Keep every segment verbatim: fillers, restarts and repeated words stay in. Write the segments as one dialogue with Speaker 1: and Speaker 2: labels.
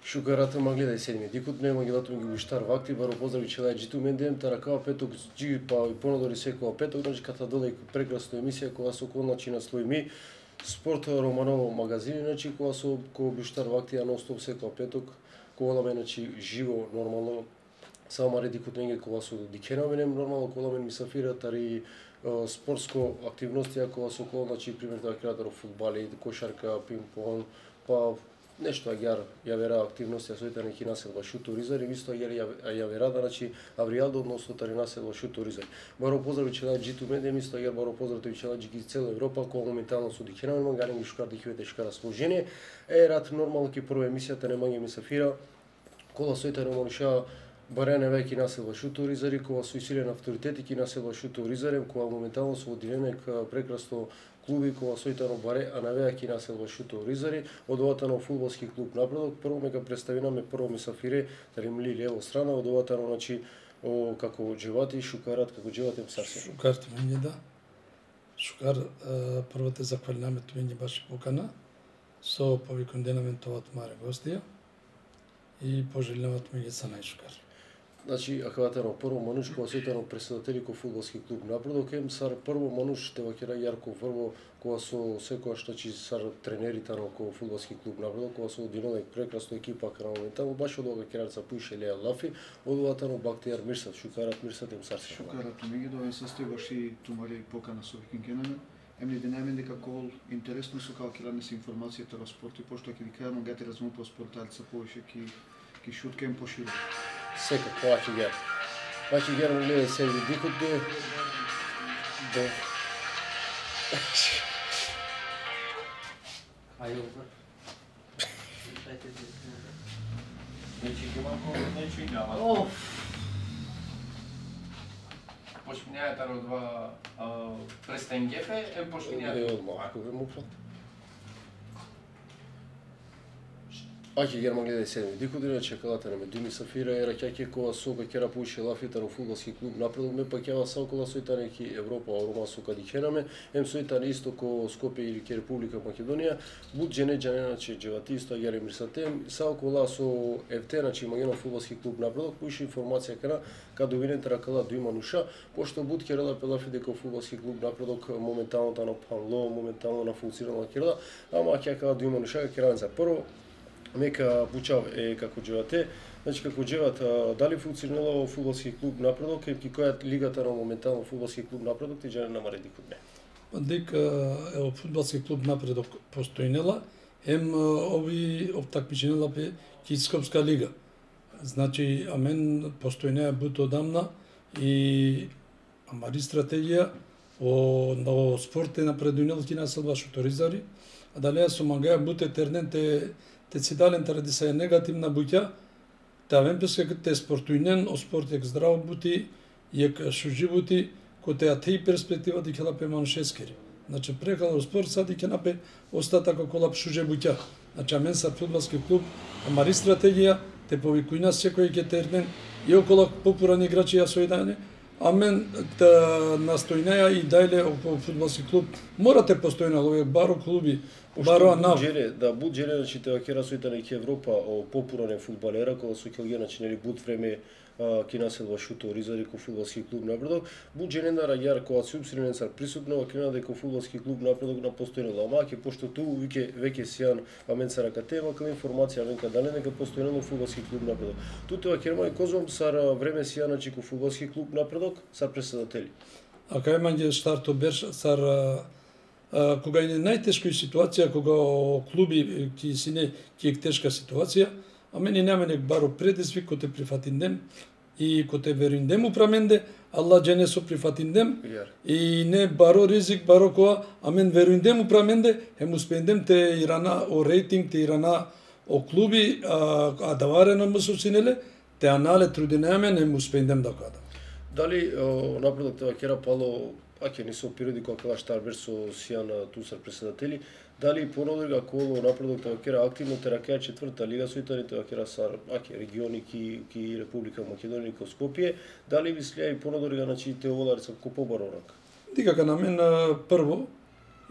Speaker 1: Шукарата ма гледај седми. Дикот нема гелатум ги буштар вакти, баро поздрави челај джиту мендем, таракава петок джи па и понадори секоја петок, значи ката додај прекрасна емисија која со коначи наслоими спорт Романово магазини, значи која со кој буштар вакти ја ностоп секоја петок, коламе значи живо нормално. Само редикот неге која со дикенаменем нормално коламен мисафира тари спортско активности која со кола, значи пример да креатор фудбали, кошарка, пинг-понг, па нешто агар ја вера активности ја сојта неки населба шуторизар и исто агар ја вера да значи Авријалдо односно тари населба шуторизар. Баро поздрави челај джиту медем исто агар баро поздрави челај джики цела Европа која моментално со дикенаме мангарен ги шукар дикивете шкара сложение. Е рад нормално ки прва емисијата не мање мисафира кола сојта ромониша барене веќе населба шуторизари која со силен авторитет ки населба шуторизарем која моментално со одиленек прекрасно клуби која сојтано баре, а навејаки населба шуторизари, од оватано фудбалски клуб Напредок, прво мека представинаме прво мисафире, дали мли лево страна, од оватано, значи, о, како джевати, шукарат, како джеватем сарсе.
Speaker 2: Шукар тумење, да. Шукар, прво те захвалинаме тумење баш покана, со повиконденамен това тумаре гостија и пожелинаме тумење са најшукар.
Speaker 1: Значи, ахватано прво мануш која сојтано председатели ко фудбалски клуб Напредок, ем сар прво мануш те вакера Јарко Врво, која со секојаш значи сар тренерите на ко фудбалски клуб Напредок, која со одиновек прекрасна екипа кај моментално баш од ога кераца пуише Леја Лафи, од оватано Бактијар Мирсат, шукарат Мирсат ем сар.
Speaker 3: Шукарат меѓу довен состојбаш и тумари покана со викингенаме. Емни денемен дека кол интересно со како ќе се информацијата во спорт и пошто ќе ви кажам гати разуму по спорталица повише ки ки шуткем поширо.
Speaker 1: Сека, плачи гер. Плачи гер му гледа се дикот де... Да.
Speaker 4: Ајде,
Speaker 5: Нечи ги малко, нечи няма.
Speaker 4: Оф!
Speaker 5: Пошмињајата од два престен гефе, е пошмињајата.
Speaker 1: Е, одмah, ако ве му прат. Аќе герма гледај седми. Дикот дина чекалата на Медуми Сафира ера ќаќе кога сока кера пуише лафита на фудбалски клуб Напредок ме па ќава сакола сојта неки Европа, Рома со кадикенаме, ем сојта на исто ко Скопје или ке Република Македонија, буд джене джанена че джевати исто агер мирсатем, сакола со ефте значи магено фудбалски клуб Напредок пуише информација кара каде винен ракала до имануша, пошто буд керала пелафи дека фудбалски клуб Напредок моментално та на панло, моментално на функционална керала, ама ќе каде до имануша керален за прво мека Бучав е како джевате, значи како джеват дали функционира во фудбалски клуб Напредок и која лигата на моментално фудбалски клуб Напредок ти джене намари дикот не.
Speaker 2: Дека е фудбалски клуб Напредок постојнела, ем ови обтакмиченела пе Кископска лига. Значи, амен постојнеа бут одамна и амари стратегија о на спорт е напредунел ки населба шуторизари, а дали со мангаја буте терненте те си дален таради се негативна буќа, та вемпеска те спортујнен, о спорт ек здраво бути, ек шужи бути, кој те ати перспектива ди ќе лапе маншескери. Значи прекала спорт сади ќе напе остатак околап шуже буќа. Значи амен са фудбалски клуб, амари стратегија, те повикујна секој ќе тернен и около популарни играчи ја сојдане, амен да настојнеја и дајле околу фудбалски клуб. Морате постојна овие баро клуби, баро нав.
Speaker 1: Буџере, да буџере значи те вакера сојта неки Европа о популарен фудбалера кога со Келгија значи нели буд време ки населба шуторизари ко фудбалски клуб Напредок, буџере на раѓар кога се упсирен цар присутно вакена дека фудбалски клуб Напредок на постојнела, ама ќе пошто ту веќе веќе сијан амен цара катема кај информација амен каде дека постојнела фудбалски клуб Напредок. Туте вакера и козом сар време сијан значи ко фудбалски клуб Напредок сар председатели.
Speaker 2: А кај мање старто берш сар кога е најтешка ситуација, кога клуби ки си не ки е тешка ситуација, а мене нема нек баро предизвик кој те прифатиндем и кој те вериндем упраменде, Аллах джене со прифатиндем и не баро ризик баро која, а мен вериндем упраменде, ем успендем те ирана о рейтинг, те ирана о клуби, а, а даварено му сосинеле, те анале трудинеаме, не му успендем да када.
Speaker 1: Дали Напредок те вакера пало аќе не со периоди кога кала Штарбер со сијана тусар председатели, дали понадолга коло Напредок те вакера активно те ракеа четврта лига сојтани те вакера сар аќе региони ки ки Република Македонија ко Скопје, дали мислеа и понадолга значи те оволарица ко побаро рак.
Speaker 2: Дикака на мен прво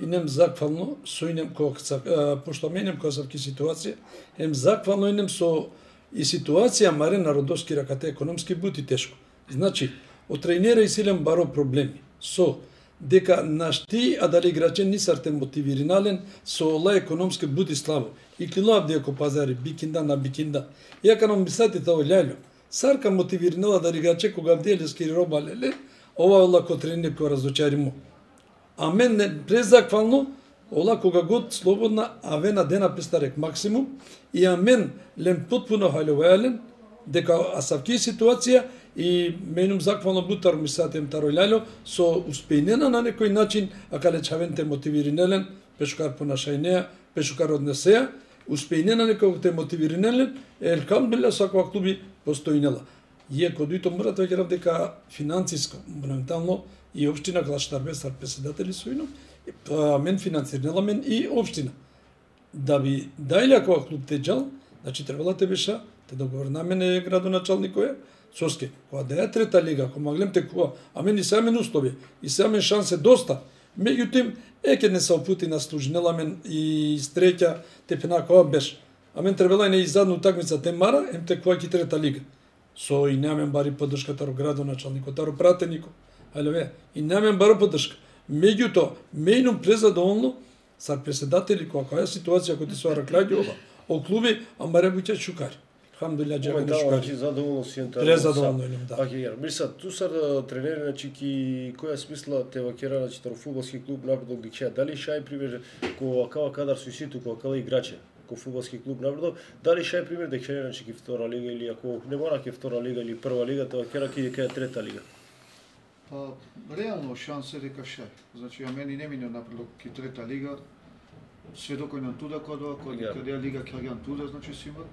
Speaker 2: и нем заквално со инем кога пошто менем кога савки ситуација, ем заквално инем со и ситуација маре народовски ракате економски бути тешко. Значи, од тренера и силен баро проблеми со дека нашти а дали играчен ни сарте мотивиранален со ола економски бути слабо. И килоаб дека пазари бикинда на бикинда. Јака нам мислате тоа лјајло. Сарка мотивиринала да играче кога бделе скири роба леле, ова лако тренер кој разочаримо. А мен не презаквално ола кога год слободна авена дена пестарек максимум и а мен лем потпуно халјовајален дека асавки ситуација и менум заквално бутар мислатем таројлјало со успејнена на некој начин, а кале чавенте мотивиринелен, пешкар понашајнеа, пешкар однесеа, успејнена некој те мотивиринелен, елхамдулилла саква клуби постојнела. Иако дуито морате да ќе дека финансиско, моментално и општина Клаштарбе сар председатели сојно, а мен финансирнела мен и општина. Да би дајле ако клуб те джал, значи требала те беше те договор на мене градоначалникој Соске, кога да е трета лига, ако маглем текува, а мен и самен услови, и самен шансе доста. Меѓутоа, еке не се опути на служнела мен и стреќа тепена кога беше. А мен требала и не изадну такмица те мара, ем текува ки трета лига. Со и немен бари поддршка таро градоначалникот, таро пратенико. Алеве, и немен бари поддршка. Меѓутоа, менум презадоволно сар председатели кога која ситуација кој ти се раклаѓува, о клуби, а маре буќе шукари. Хамдулилла джека не шукари.
Speaker 1: Моментално задоволно си ентар.
Speaker 2: Презадоволно илем, да.
Speaker 1: Аки јар, миса, ту сар тренери, значи ки која смисла те вакера, значи таро фудбалски клуб напредок ги чеа. Дали шај пример кога кава кадар со ситу, кога кала играче, ко фудбалски клуб напредок, дали шај пример дека ќе значи ки втора лига или ако не мора ке втора лига или прва лига, тоа вакера ки дека трета лига.
Speaker 3: Па, реално шанс е дека шај. Значи, ја мени не мине напредок ки трета лига, сведокој на туда кодова, кој каде лига ќе туда, значи си имат.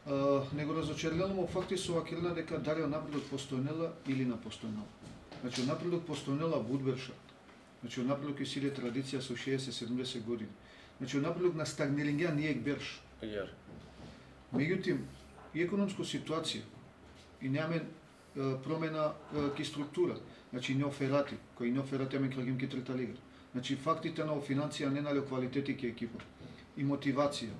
Speaker 3: Uh, него разочарливо факти со вакелна дека дали напредок постојнела или на постојнела. Значи напредок постојнела Будберша. Значи напредок е силе традиција со шеесет седумдесет години. Значи напредок на стагнелингја не е берш.
Speaker 1: Јар.
Speaker 3: Меѓутоа и економска ситуација и немаме uh, промена uh, ки структура. Значи не оферати, кои не оферати ме крагим ки трета лига. Значи фактите на финансија не нале квалитети ки екипа и мотивација.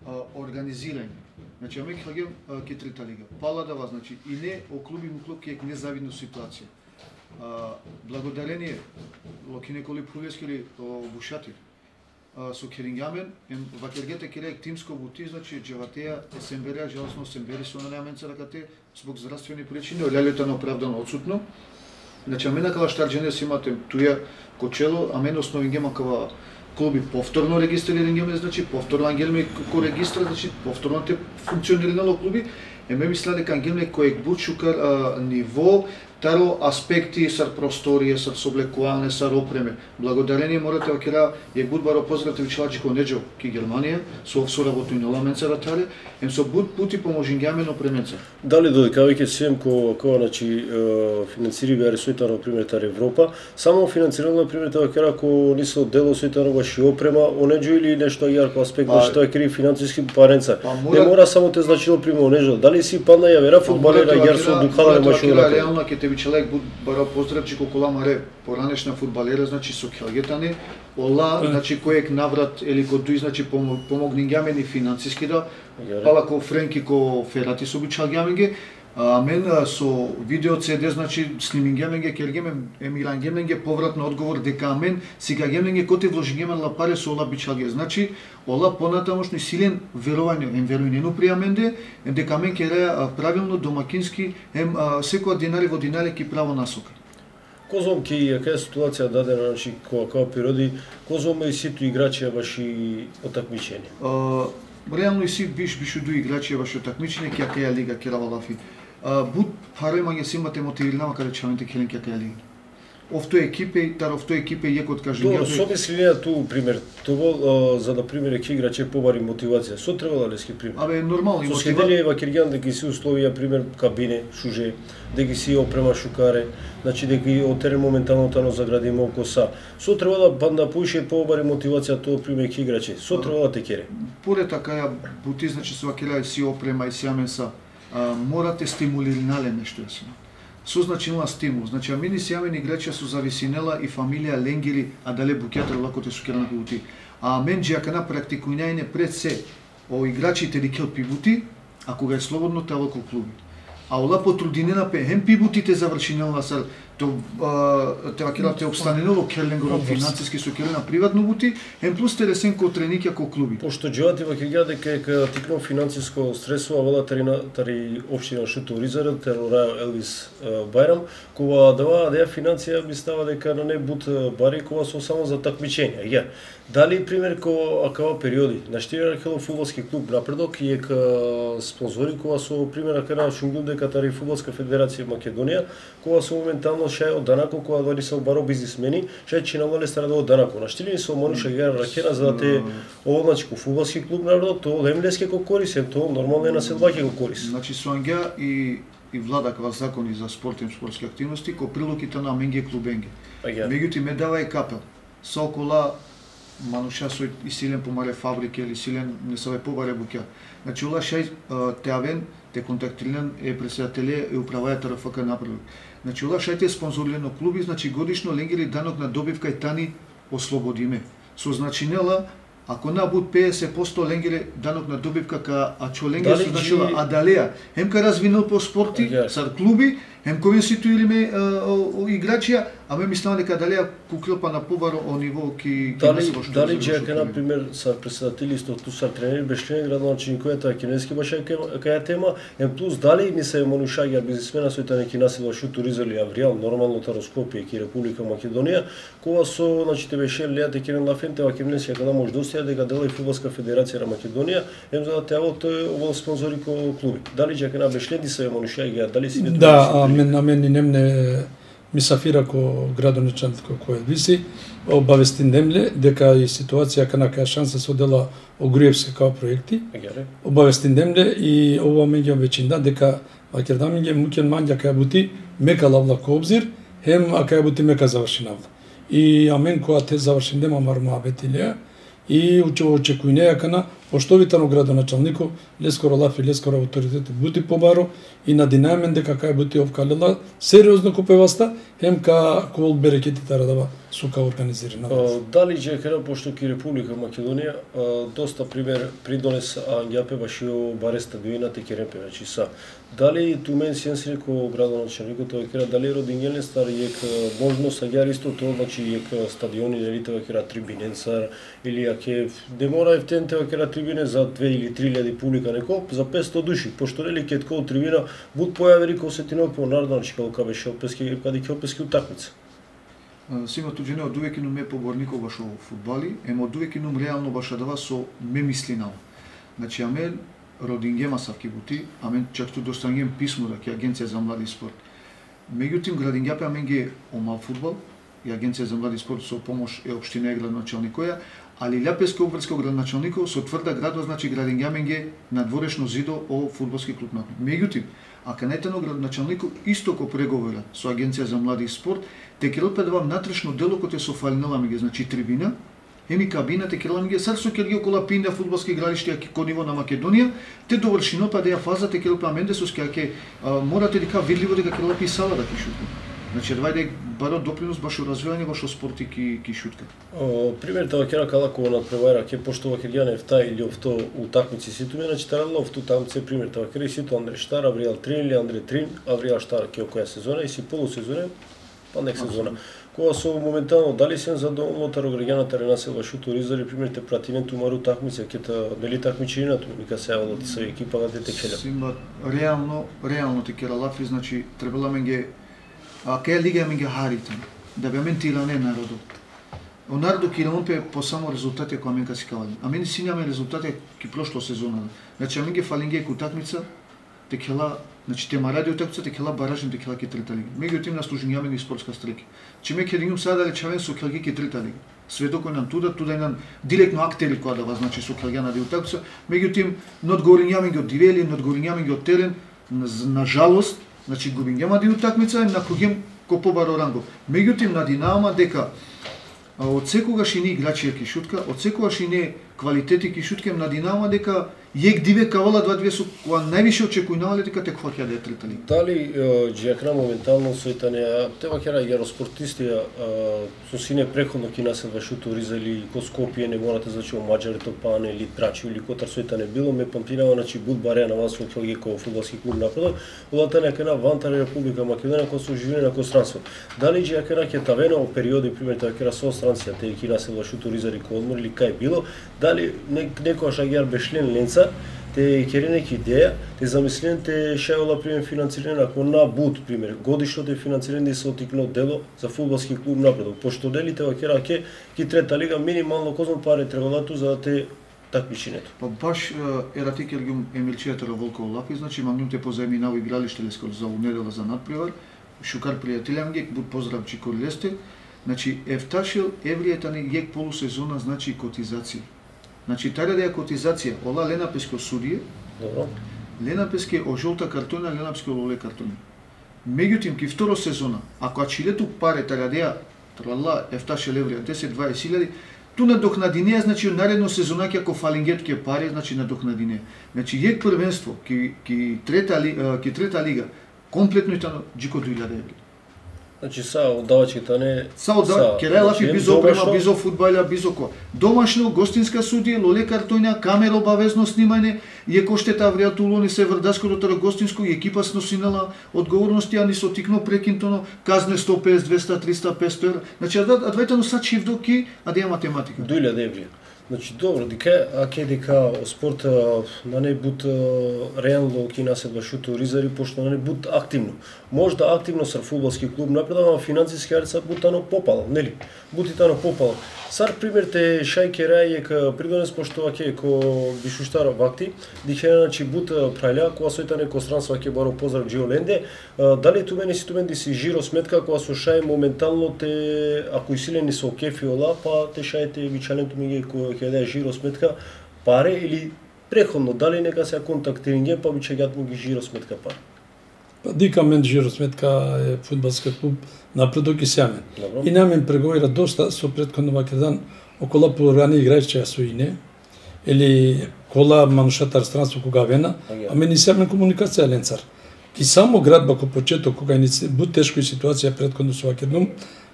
Speaker 3: Uh, организирање. Значи, аме ќе ке трета лига. Паладава, значи, и не о клуби му клуб ке е незавидна ситуација. Uh, благодарение Локи Николи Пулески или Бушати uh, со Керингјамен, вакергете керек тимско бути, значи, джеватеја е семберија, жалосно сембери со наменца ракате, због здравствени причини, олјалето на оправдано отсутно. Значи, аме на Калаштарџене си имате туја кочело, аме на основен гема кава клуби повторно регистрирани, значи повторно ангелме ко регистра, значи повторно те функционирало клуби, еме мисля дека ангелме кој бучукар ниво, таро аспекти сар просторија, сар соблекување, сар опреме. Благодарение морате вакера е будбаро поздравте Челаџи Конеџо ки Германија, со соработу и наламенца ратаре, ем со буд пути поможингјамен опременца.
Speaker 1: Дали додека веќе сем ко ко значи финансири беа сојта на пример тар Европа, само финансирано на пример тоа кера ко ни се дело сојта на баш и опрема, онеџо или нешто јарко аспект, значи тоа е кри финансиски паренца. Не мора само те значило пример онеџо. Дали си падна ја вера фудбалера јар со духален машина.
Speaker 3: Реално ќе те би човек буд бара поздравчи колку маре поранешна фудбалера, значи со Келгетани, ола, значи којек наврат или кој дуј значи помогнингјамен и финансиски да, пала ко Френки ко Ферати со обичалгјаменге, а мен со видео Си Ди, значи снимингјаменге кергемен емирангјаменге повратно одговор дека мен сега геменге коти вложингјамен ла паре со ола бичалге. Значи ола понатамошни силен верување, ем верување пријаменде, ем дека мен ќе правилно домакински, ем секоја динари во динари ки право насока.
Speaker 1: Козом ки јака ситуација дадена, значи кога кога природи, козом и ситу играчи ваши отакмичени.
Speaker 3: Реално и си биш бишу ду играчи ваши отакмичени ки јака ја лига ки равалафи. Буд парој мање си имате мотивирана каде чавенте келен ки јака ја лига. Овто екипе, тар овто екипе јеко од кажем.
Speaker 1: Добро, со мислија ту пример, тоа за да пример ќе играче побари мотивација. Со требала лески пример.
Speaker 3: Абе нормално
Speaker 1: и мотивација. Со следелија во Киргјан дека си условија пример кабине, шуже, дека си опрема шукаре, значи дека и отерен моментално тано загради малку са. Со требала банда поише побари мотивација тоа пример ќе играче. Со требала те кере.
Speaker 3: Поред така ја бути значи со вакера си опрема и сјамен са. Морате стимулиранале нешто да си. со значинала стимул. Значи, амени си амени играчи со зависинела и фамилија Ленгери, а дале букјатер лакоте со керна пивути. А мен джакана практикуњајне пред се о играчите ди кел пивути, а кога е слободно тево кол клуби. А ола потрудинена пе хем пивутите завршинела сар то тева кела те обстаненело Керлингоров финансиски со Керлина приватно бути, хем плюс те ресен ко треники кол клуби.
Speaker 1: Пошто джоати во кега дека е тикно финансиско средство, а вела тарина тари општина Шуто Ризаре, терора Елвис Бајрам, кога дава да финансија би става дека на не бут бари кога со само за такмичења. Ја. Дали пример ко акава периоди на штирер кело фудбалски клуб Напредок и ека спонзори кога со пример акана Шунгул дека тари фудбалска федерација Македонија, кога со моментално шај од данако кога дали се обаро бизнисмени, шај чиналале стара од данако. На штирени со Мониша Гера ракена за да те овоначко фудбалски клуб Напредок, то лемлеске ко корисен, то нормално е на селваќе го корис.
Speaker 3: Значи со Ангеа и и влада кога закони за спорт и спортски активности, ко прилуките на Менге клубенге. Меѓутоа ме дава и капел. Со окола мануша со и силен помале фабрики или силен не се побаре буќа. Значи ула шај теавен те контактилен е председателе и управајател РФК Напредок. Значи ула шај те спонзорирано клуби, значи годишно Ленгери данок на добивка и тани ослободиме. Со значинела ако на буд педесет проценти Ленгери данок на добивка ка а чо Ленгери со значила Адалеја, хем ка развинал по спорти, сар клуби, хем ковен ситуириме играчија, а ме мислам дека Адалеја куклопа на побаро о ниво ки
Speaker 1: дали дали джека на пример са председатели исто ту са тренери бешлен градоначалник којата кинески баша каја тема, ем плюс дали ни се монушаѓа бизнисмена со таа неки насело Шуто Ризаре Авриал нормално Тароскопија ки Република Македонија, кога со значи те беше леате Керен Лафенте ва кемнесија кога може достија дека дела и фудбалска федерација на Македонија, ем за да теало тој овој спонзори ко клуби. Дали джека на бешлен ни се монушаѓа, дали си не
Speaker 2: да, мен на мен немне мисафира ко градоначалник кој виси, обавести немле дека и ситуација кана каја шанса се одела Огруевски као проекти. Обавести немле и ова меѓу веќина дека Македонија мукен мања каја бути мека лавла ко обзир, хем а каја бути мека завршинавла. И амен која те завршиндема марма бетилија и очекувања кана поштовитано градоначалнико лескоро лафи лескоро авторитет бути побаро и на динамен дека кај бути овкалела сериозно купеваста хем ка кол берекети тарадава сука организирана.
Speaker 1: Дали джекера пошто ки Република Македонија доста пример придонес Ангјапе башио баре стадионите керемпе значи са. Дали тумен сенс реко градоначалникот тој кера дали родињелен стар ек можност аѓар исто тоа значи ек стадиони нели тоа кера трибиненцар или аке де мора ефтен тоа кера трибине за две или три илјади публика неко за петсто души пошто нели ке кол трибина буд појави ко сетино по народнички кога беше опески каде ќе опески утакмица.
Speaker 3: Сима туџене од увек ме поборников баш во фудбали, емо од увек инум реално баш дава со ме мислинал. Значи аме родингема савки бути, аме чак ту достангем писмо дека Агенција за млади спорт. Меѓутоа градингјапе аме ги омал фудбал и Агенција за млади спорт со помош е општина и градоначалникоја, али Лјапески обврско градоначалников со тврда градова значи градингјамен ги надворешно зидо о фудбалски клуб. Меѓутоа, а канетено градоначалников исто ко преговора со Агенција за млади спорт, те келопе да вам натрешно дело кој со фалинала меѓу значи трибина, еми кабина те келопе меѓу сар со ќе ги окола пинда фудбалски игралишта ко ниво на Македонија, те довршино па да ја фаза те келопе аменде со ќе морате дека видливо дека келопе и сала да ќе шутка. Значи двајде баро допринос баш развивање баш спорти ки ки шутка.
Speaker 1: Пример тоа кера кала кога надпревара ке пошто во Хелјана ефта или овто утакмици ситу мене значи тарало овто тамце пример тоа кера ситу Андре Штар, Авриал Трин или Андре Трин, Авриал Штар ке која сезона и си полусезона, па нек сезона. Кога со моментално дали се задоволно тарограѓаната ренасела Шуто Ризаре пример те пративен тумару такмица ке та дали такмичината нека се јавила ти со екипа да те келја.
Speaker 3: Сима реално реално те кера лафи значи требала менге а кај лига ми ги харите да бе ментиране народот. O narodu ki rompe po samo rezultate кои менка си кавали. А мене си нямаме резултати ки прошло сезона. Значи менге фалинге утакмица те кела, значи тема ради утакмица те кела баражен те кела ки трета лига. Меѓутоа на служењаме ни спортска стреки. Чи ме ќе дигнум сада речавен со келги ки трета лига. Сведок кој нам туда, туда е нам директно актери која да значи со келгана да утакмица. Меѓутоа надгорњаме ги од дивели, надгорњаме ги од терен. На жалост, значи губињама ди утакмица на когим ко побаро ранго. Меѓутоа на Динамо дека од секогаш и не играчи ки шутка, од секогаш и не квалитети ки шуткем на Динамо дека јек диве кавала два две со кога највише очекувале дека те хваќа да е трета лига.
Speaker 1: Дали Джиакна моментално сојтане тева кера јаро спортисти со сине преходно ки населва шутури или ко Скопје не морате значи о маџари Топане или Трачи или котар сојтане било ме памтинава значи Будбаре на вас во ко фудбалски клуб напредок, улата нека на Вантара Република Македонија кој со живење на констранство. Дали Джиакна ќе тавена во периоди пример тоа кера со странција те ки населва шутури ко одмор или кај било, дали некојаш агиар бешлен ленца те кери неки идеја, те замислен те шајола пример финансирање ако на Буд пример, годишно те финансирање да се отикно дело за фудбалски клуб напредок, пошто делите во кера ке ки трета лига минимално козон пари требало за да те такмичењето.
Speaker 3: Па баш ерати кергум Емилчијата Волков Лапи, значи магнуте позајминава игралиште лескол за унедела за надпревар, шукар пријателјам ги, буд поздрав чикор лесте, значи ефташил евријетани јек полусезона значи котизација. Значи, тајде да е котизација, ола Лена Песке судија,
Speaker 1: Добро.
Speaker 3: Лена Песке о жолта картона, Лена Песке о лоле картона. Меѓутим, ки второ сезона, ако ачилету паре тајде да ја, трала, ефташе леврија, десет дваесет илјади, ту надокнадинеја, значи, наредно сезона ке ако фалингет ке пари, значи, надокнадинеја. Значи, јек првенство, ки, ки, трета, ли, ки трета лига, комплетно и тано, джико две илјади еври.
Speaker 1: Значи са оддавачките не
Speaker 3: Са оддава, Керелафи бизо опрема, бизо фудбалја, бизо ко. Домашно, гостинска судија, лоле картоња, камера обавезно снимање, и еко штета вријатулони се врдаско до таро гостинско и екипа сносинала одговорности, а ни со тикно прекинтоно, казне сто песет, двеста, триста, песто евра. Значи, а двајтано са чивдоки, а да ја математика.
Speaker 1: две илјади еври. Значи добро, дека аке дека спорт на не бут реално ки наседва шутуризари пошто на не бут активно. Можда активно сар фудбалски клуб напредува, финансиски арица бутано попало, нели? Бутитано попало. Сар пример те шајке рајек придонес пошто аке ко бишуштар вакти, дихена значи бут прајля кога сојтане ко странство аке баро поздрав Джиоленде, дали ту мене си ту мене си жиро сметка кога со шај моментално те ако исилени со кефиола, па те шајте вичаленто ми ко ќе да жиро сметка паре или преходно дали нека се контактиринге па би ќе му ги жиро сметка паре.
Speaker 2: Па дика мен жиро сметка е фудбалски клуб напредок и сјамен. И намен преговира доста со претходно вакедан околу програми играјче со ине или кола манушатар странство кога вена, а мен и сјамен комуникација ленцар. Ки само град бако почеток кога ни бут тешко ситуација претходно со вакедном,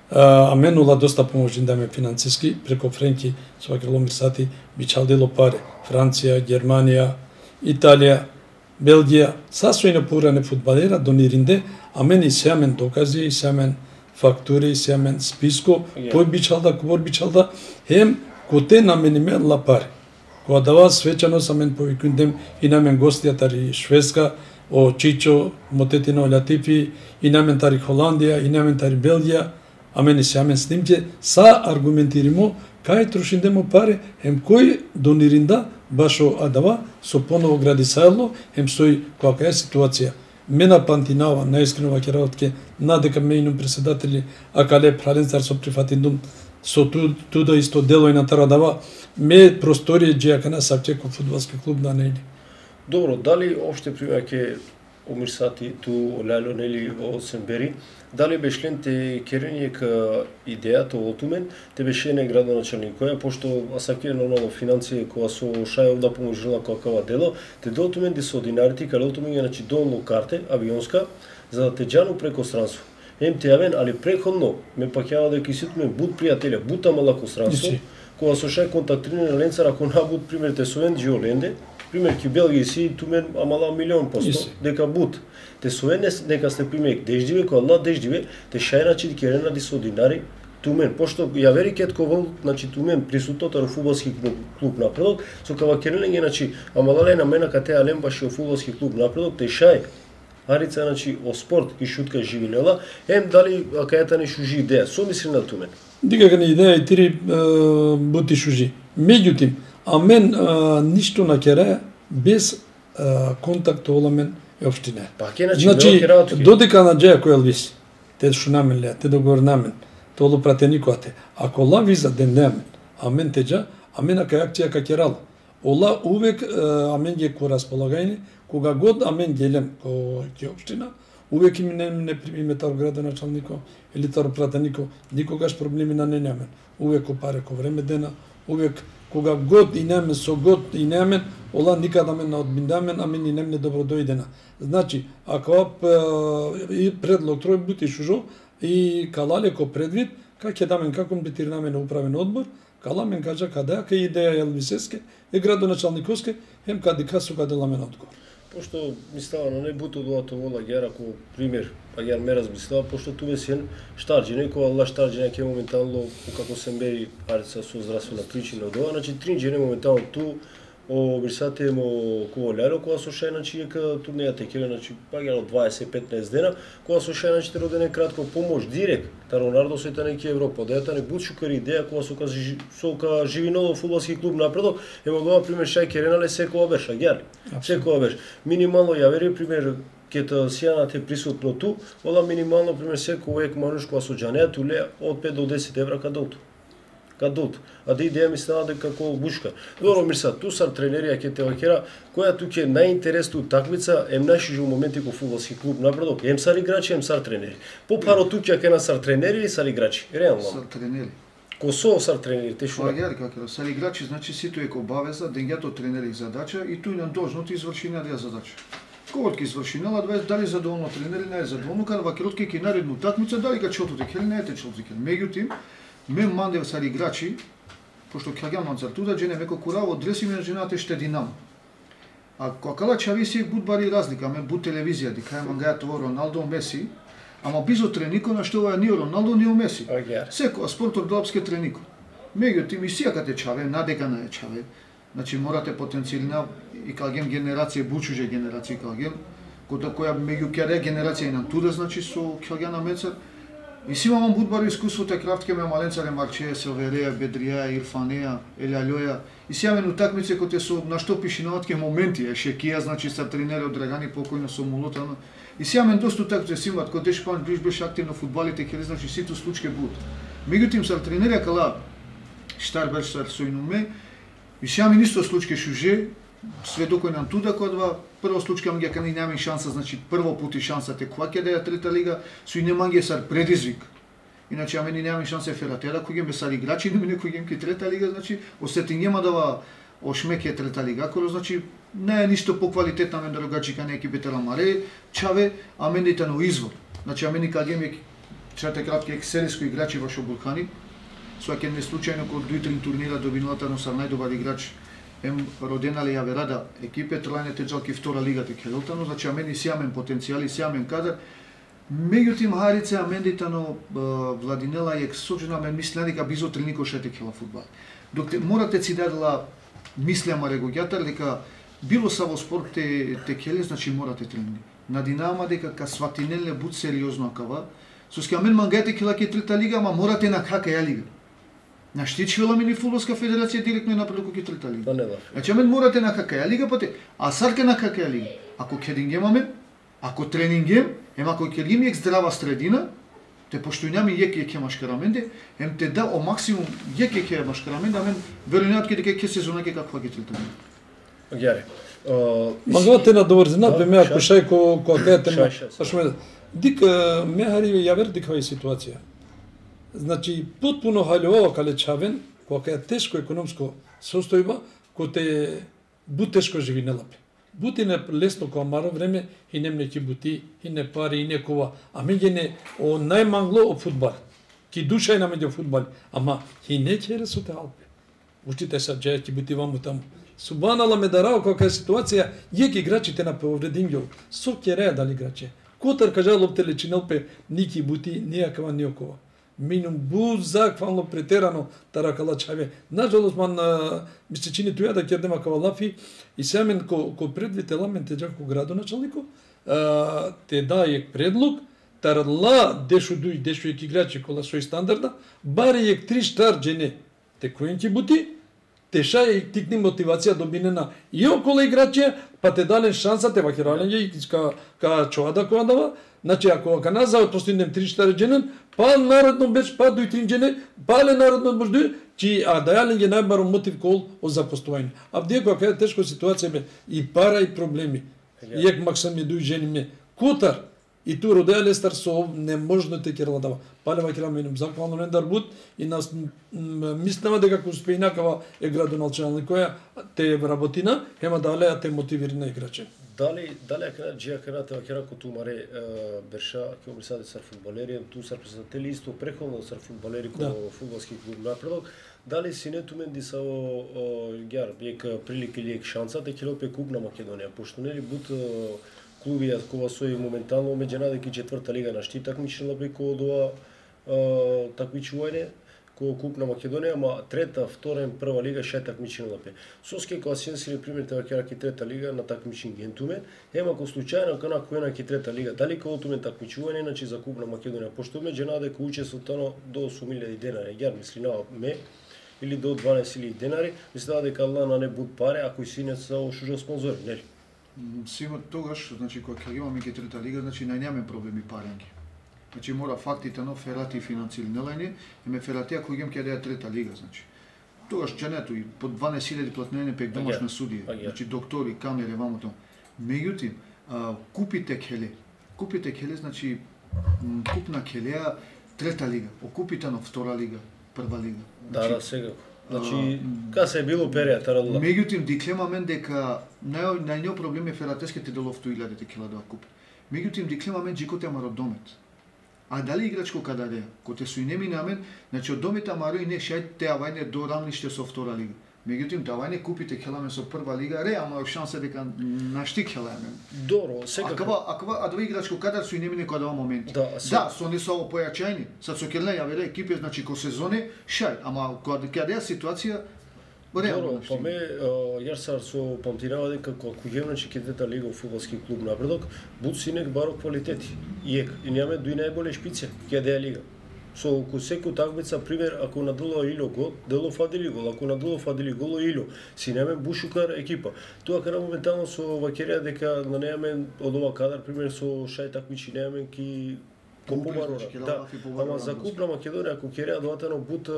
Speaker 2: а мен ула доста поможин да ме финансиски преко Френки со вакеломир сати би чалдело паре. Франција, Германија, Италија, Белгија, сасојно поране фудбалера дониринде, а мен и сјамен докази, и сјамен фактури, и сјамен списко, кој би чалда, кобор би чалда, хем коте на мен имела пари. Кога дава свечано са мен повикундем и на мен гостијатари Шведска, о Чичо, Мотетино Латифи, и на мен тари Холандија, и на мен тари Белгија, а мен и сјамен снимке, са аргументиримо кај трошиндемо пари, хем кој дониринда башо адава со поново гради сајло, хем сој која е ситуација. Мена пантинава, наискрено ваќе работке, надека мејнум председатели, акале праленцар со прифатиндум, со ту, туда исто дело и на тарадава, ме простори Джиакана Савчеко фудбалски клуб на нели.
Speaker 1: Добро, дали опште примаќе Омирсати ту Лело нели во Сенбери, дали бешлен те керење ка идејата во тумен, те беше не градоначалник која пошто асаке нормално финансија кога со шајов да поможила какава дело, те до тумен де со динарите кај лотумен значи долно карте авионска за да те џану преко странство. Ем те јавен, али преходно ме паќава дека ситумен буд пријателја, бута малако странство, кога со шај контактиране на ленцар ако на буд пример те совен Джиоленде, пример ки Белгија си тумен амала милион посто дека бут. Те совен нека сте пример деждиве кога ла деждиве те шајначи керена ди со динари тумен пошто ја вери кетко вол значи тумен присутното на фудбалски клуб, клуб напредок со кава керење значи амала лена мена кате алем баш фудбалски клуб напредок те шај арица значи о спорт ки шутка живинела ем дали кајата не шужи идеја со мисли на тумен.
Speaker 2: Дика не идеја и тири бути шужи. Меѓутим а мен а, ништо на кере без а, контакт оламен е општина.
Speaker 1: Па ке значи,
Speaker 2: значи додека на Джеја кој Елвис, те шо намен ле, те договор намен, толу пратеникоате. Ако ла виза ден неамен, а мен теджа, а мен кај акција ка керал. Ола увек а мен ги ко располагајни, кога год а мен гелем ко ке општина, увек им не не примиме таро градоначалнико или таро пратенико, никогаш проблеми на не неамен. Увек ко паре ко време дена, увек кога год и немен со год и немен, ола никада мен не одбиндамен, а мен и немне добро дојдена. Значи, ако и предлог трој бути шужо и калалеко предвид, как ќе дамен како битирнамен управен одбор, кала мен кажа каде ка идеја Елвисеске и градоначалниковске, хем кади касу каде ламен одговор.
Speaker 1: Пошто ми става на не буту доато вола гера ко пример, а гер ме размислава, пошто ту бесен штарџине, која алла штарџине ке моментално како се бери арица со здравствена причина од ова, значи тринџине моментално ту о брисате мо кога лело, кога со шај, значи ека турнејата ке, значи па гера дваесет петнаесет дена, кога со шај, значи родене кратко помош директ, та Ронардо се та неки Европа, да ета не бутшукари идеја кога со со ка Живиново фудбалски клуб напредок, емо дова пример шај Керенале секоја беше, гер. Секоја беше. Минимално ја вери пример ке та сијанат е присутно ту, ола минимално пример секој ек мануш кога со џанеа туле од пет до десет евра кадолту. Кадолту. А да идеја ми стана дека како бушка. Добро мирса, ту сар тренерија ке те вакера, која ту ке најинтересно такмица, ем наши моменти ко фудбалски клуб напредок, ем сар играчи, ем сар тренери. По паро ту ќе на сар тренери или сар играчи? Реално.
Speaker 3: Сар тренери.
Speaker 1: Ко со сар тренери, те шо?
Speaker 3: Па ја како сар играчи, значи сито е обавеза, дењето тренери задача и тој на должност изврши на задача. Кога ќе изврши на дваесет дали задоволно тренери, не е задоволно, кога вакерот ќе наредну такмица, дали ка чототе ќе не ете чототе. Меѓутоа, мен мандев сар играчи, пошто каѓам манцар туда, джене меко кураво, дреси ме женате ште Динамо. А кога чави си будбари разлика, мен буд телевизија, дека е мангаја тоа Роналдо, Меси, ама бизо тренико на што ова ни Роналдо, ни Меси. Секоја спортот главске тренико. Меѓутоа, ми сијакате чаве, надека на е чаве, значи морате потенцијална и каѓем генерација, бучуже генерација каѓем, која меѓу кјаде генерација и на туда, значи со кјаѓана мецар, и си имам будбаро искуството крафтке ме маленцаре Марче, Селвереја, Бедрија, Ирфанеја, Елјалјоја. И си имам утакмици кои со на што пишиноватки моменти, е Шекија, значи са тренери од Драгани покојно со Молутано. И си имам доста утакмици си имат кои Дешпан ближ беше активно фудбалите, ке значи сите случаи будат. Меѓутоа са тренери кала штар беше са сојнуме. И си имам исто случаи шуже, сведокој нам туда кодва. Прво случка ми дека не нема шанса, значи прво пути шансата кога ќе да е трета лига, со и нема ги сар предизвик. Иначе аме не нема шанса фератера кој ќе сар играчи, не мене кој ќе трета лига, значи осети нема да ошмеке трета лига, кој значи не е ништо поквалитетна мен другачика на екипите Ламаре, Чаве, а мените на извор. Значи аме никаде ми чете кратки екселиско играчи во Шобулкани. Сваќе не случајно кога дуи-три турнира добиналата на сар најдобар играч. Ем родена ли ја верада екипе, трлајните джалки втора лига те Келтано, значи амени сиамен потенцијали, сиамен кадар. Меѓутоа Харица амендитано Владинела е сочена мен мислеа дека бизо тренико шете кела фудбал. Док те, морате си дадела мислеама регоѓатар дека било са во спорт те, те келе, значи морате тренинги. На Динамо дека ка сватинеле буд сериозно акава, со ска мен мангајте кела ке трета лига, ама морате на кака ја лига. На штичвела мини фудбалска федерација директно на предоки трета лига. Значи мен морате на какаја лига пате, а сарке на какаја лига. Ако кедингемаме, ако тренингем, ема ако ќе ги ми здрава средина, те постојнами јеке ќе машкараменде, ем те да о максимум јеке ќе машкараменде, а мен веројатно ќе дека ќе сезона ќе каква ќе трета лига.
Speaker 1: Гјаре.
Speaker 2: Магате на доврзина, бе ме ако шај ко ко кајате ме. Дика ме хари ја вер диква ситуација. Значи, потпуно халјово кале Чавен, кога е тешко економско состојба, кој те бу тешко живи на лапе. Бути не лесно кога маро време, и не млеки бути, и не пари, и не кова. А меѓе не о најмангло о фудбал. Ки душа е на меѓу фудбал. Ама, и не ќе со те алпе. Учите са джеја ки бути ваму таму. Субанала ме дарао кога е ситуација, јек играчите на повредингјо, со кереја дали играче. Котар кажа лопте лечиналпе, ники бути, нијакава ниокова. Минум бу заквално претерано таракала Чаве. Нажалост ман ми се чини туја да кердема кавалафи и семен ко ко предвите ламен те џако градоначалнико, те дајек предлог тарла дешу дуј дешу ек играчи кола сој стандарда, бари ек три штарџене те којенки бути, те шај тикни мотивација добинена и около играчи, па те дален шанса те вакирален и ка ка чоада која дава. Значи, ако каназа постигнем три штарџенен, па народно беше па дуј тринџене, па ле народно можду, чи а дајален ги најбаро мотив кол о запостојање. А вдие кога е тешко ситуација бе и пара и проблеми. Јек максам ми дуј жени ме. Кутар, И ту родеа Лестер со неможните ќе дава. Палева ќе раменим заквално Нендар Бут и нас мислеме дека ако успее инакава е градоначалник која те работина, ема дале а те мотивирани играчи.
Speaker 1: Дали дали ако джија каната ќе рако ту маре берша ќе обрисаде сар фудбалери, ту сар презентели исто преходно сар фудбалери ко фудбалски клуб напредок. Дали си не тумен ди са гјар бек прилика или шанса да ќе лопе куп на Македонија, пошто нели бут клуби кога сои моментално меѓу надеки четврта лига на штит такмичила преку ова такмичување ко куп на Македонија, ама трета, втора и прва лига ше такмичила пе. Соске кога си си пример тоа ќе раки трета лига на такмичен гентуме, ема ко случајно кана која ки трета лига, дали ко тумен такмичување иначе за куп на Македонија, пошто меѓу надеки учеството до осум илјади денари, јар мисли на ме или до дванаесет илјади денари, мислеа дека на не буд пари, ако си не се ошужа спонзори, нели?
Speaker 3: Симо тогаш, значи кога ќе имаме ке трета лига, значи најнеме проблеми парење. Значи мора фактите но ферати финансирнелање, еме ферати ако игам ќе да трета лига, значи. Тогаш ченето и по дванаесет илјади платнење пек домашна судија, значи доктори, камери, вамото. Меѓутоа, купите келе. Купите келе, значи купна келеа трета лига, окупите на втора лига, прва лига.
Speaker 1: Да, да, сега. Значи, кога се е било период, тарадла.
Speaker 3: Меѓутоа, диклемамен дека нај најниот проблем е фератеските деловто илјади кила да купи. Меѓутоа, диклемамен джикоте амаро домет. А дали играчко кадаре, коте су и не минамен, значи од домет амаро и не шајте авајне до рамниште со втора лига. Меѓутоа, давајне купите келаме со прва лига, ре, ама шанса дека нашти келаме.
Speaker 1: Добро, сега.
Speaker 3: Аква, аква, а два играчко кадар су и не мине кога дава моменти.
Speaker 1: Да,
Speaker 3: да, со не со појачајни. Сад со келне ја вере екипи, значи ко сезоне, шај, ама кога каде ситуација
Speaker 1: Добро, па ме, јар со памтинава дека ако ќе значи кетета лига во фудбалски клуб напредок, буд синек баро квалитети. И ек, и немаме дуи најболе шпице, ќе да лига. Со ко секој такмица пример ако надело Ило гол, дело фадили гол, ако надело фадили гол Ило, си немаме бушукар екипа. Тоа кара моментално со вакерија дека на немаме од ова кадар пример со шај такмичи немаме ки Побарора. Да, ама за куп на Македонија ако ќе реадуватено бут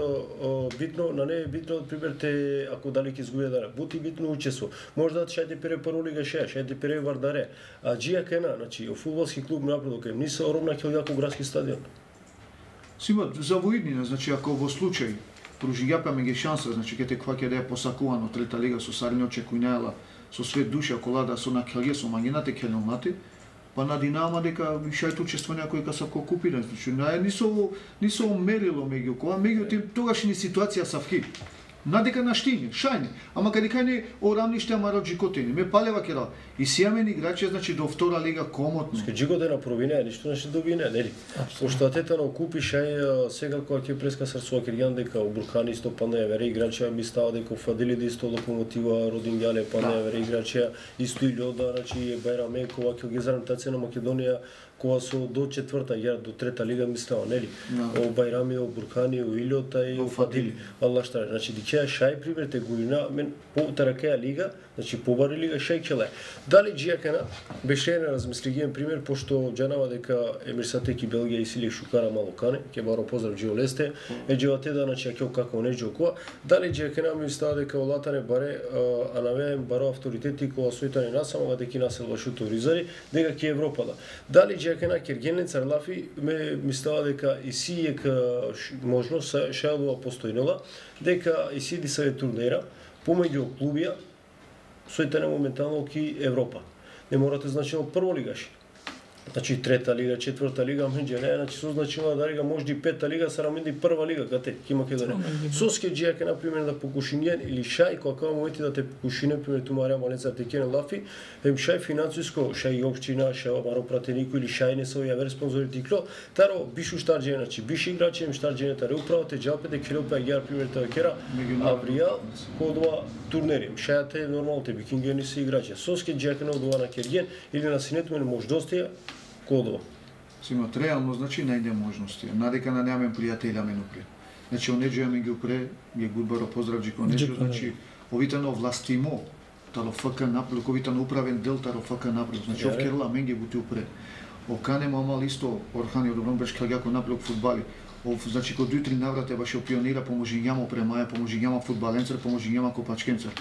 Speaker 1: битно, на не е битно пример те ако дали ќе изгубија дара. Бут и битно учество. Можда шајте пере прво лига ше, шајте пере Вардаре. А джија кена, значи фудбалски клуб напредок не се оромна Ќелјако градски стадион.
Speaker 3: Сима за воиднина, значи ако во случај пружиѓапаме ги шанса, значи ќе те кваќе да е посакувано трета лига со Сарни очекувањала со свет душа колада со на Ќелје со мангинате Ќелјонати, па на Динамо дека шајте учество некој ка се купира, значи не со не со мерило меѓу кога меѓутоа тогаш ни ситуација са вхи. Надека на штиње, шајне, ама каде кај орамниште амаро джикотени, ме палева кера. И сијамен играчи, значи до втора лига комотно.
Speaker 1: Ске джикоте на провине, ништо не ще добине, нели? Пошто атета на купи шај сега кога ќе преска срцува Кирјан дека Буркани исто пана ја вере играчи, ми става дека Фадили да исто Локомотива, Родин Ѓале пана ја вере играчи, исто и Лјода, значи Бајраме кога ќе ги зарантација на Македонија кога со до четврта ја до трета лига мислеа, нели? О Бајрами, о Буркани, о Илјота и о Фадили. Алла штара, значи дикеа шај примерте година мен по таракеа лига, значи побари лига шај келе. Дали джијакена беше на размислиген пример пошто джанава дека Емир Сатеки Белгија и Силик Шукара Малокане, ќе баро поздрав Џио Лесте, е џевате да значи ќе како не џокоа. Дали джијакена ми става дека олатане баре а навеем баро авторитети кога сојтани насамога дека насел вашуто ризари, дека ќе Европа да. Дали джијакена Киргенен Царлафи ме ми става дека и си ек можност шајлова постојнела дека и си ди се турнира помеѓу клубија сојтане моментално ки Европа. Не морате значено прво лигаш. Значи трета лига, четврта лига, меѓу не, значи со значено да лига можди пета лига, сара менди прва лига кате ки Македонија. Соске джијаке на пример да покушинјен или шај кога моменти да те покушине пример тумарија маленца текене лафи, ем шај финансиско, шај општина, шај баро пратенико или шај не се ја спонзори тикло, таро бишу штарџене, значи биш играчи им штарџене таре управо те џалпете келопа јар пример тоа кера, Авријал кодова турнери. Шајате нормално те викингени се играчи. Соске джијаке на одува на Керген или на синето мене мождостија кодова.
Speaker 3: Симат реално значи најде можности. Надека на немаме пријателја менупре. Значи онеџија ми ги упре, ги гудбаро поздрав Джико Неџо, значи овитано властимо, таро ФК напред, овитано управен дел таро ФК напред. Значи ов керла мен ги бути упре. Окане мамал исто Орхани од Доброн беше Ќелјако напред фудбали. Ов значи кога дуи три наврате баше пионира поможи њамо премаја, поможи њамо фудбаленцер, поможи њамо копачкенцер.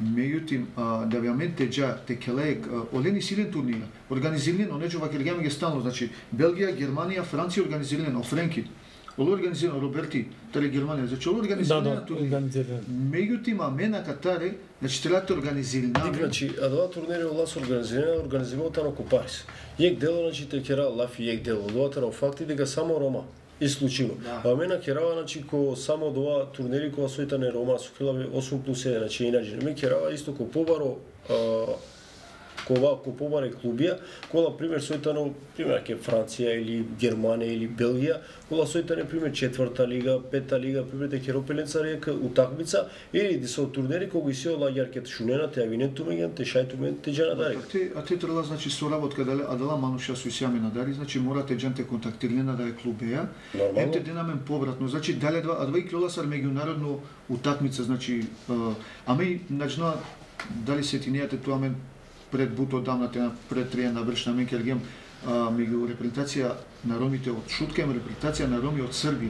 Speaker 3: Меѓутоа, да веќе те џа те келек олени силен турнир, организиран, онеџо ваќе ги стално, значи Белгија, Германија, Франција организиран, Офренки, оле организиран Роберти, тали Германија, значи оле организиран турнир. Меѓутоа, мена Катаре, значи треба да организиран.
Speaker 1: Значи, а два турнири ола се организиран, организирано ко Париз. Јек дело, значи те кера лафи јек дело, двата на факти дека само Рома. Исклучиво. Да. А мена керава, значи, ко само два турнери која сојтане Рома со келаве осум плюс еден, значи инаče. Ме керава исто ко побаро, а, кова ко побаре клубија, кола пример сојтано, пример ке Франција или Германија или Белгија, кола сојтане пример четврта лига, пета лига, пример те керопеленца река утакмица или да се турнери кога и се олагјар ке шунена те авинету меѓан те шајту мен те џана дари.
Speaker 3: А те а те треба значи соработка дали адала мануша со сјаме на дари, значи морате џанте контактирана да е клубеја. Емте денамен повратно, значи дали два а два и клоласар меѓународно утакмица, значи ами начна дали се тинијате тоа мен пред буто дамна тема пред трија навршна мен кергем меѓу репрезентација на ромите од Шуткем, репрезентација на роми од Србија.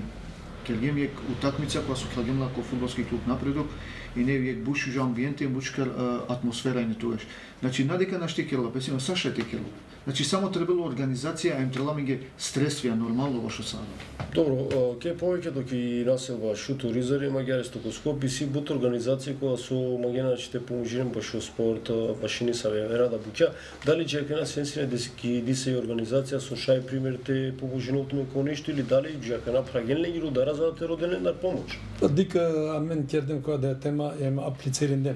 Speaker 3: Кергем е утакмица која се хлагемла ко фудбалски клуб Напредок и не е буш жа амбиенте, бушкар атмосфера и не тогаш. Значи надека наште керла, песино Саша те керла. Значи само требало организација, а им требало меѓу стресвија нормално во што сада.
Speaker 1: Добро, ке повеќе доки населба Шуту Ризари, Маѓари Стокоскоп и си бут организација која со магиначите поможирам баш во спорт, башини са вера да буќа. Дали ќе ке нас сенсине дески дисе и организација со шај примерите поможиното ме ко нешто или дали ќе ке направен легиру да развадате роден на помош.
Speaker 2: Дика амен кердем која да е тема ема аплицирен дем.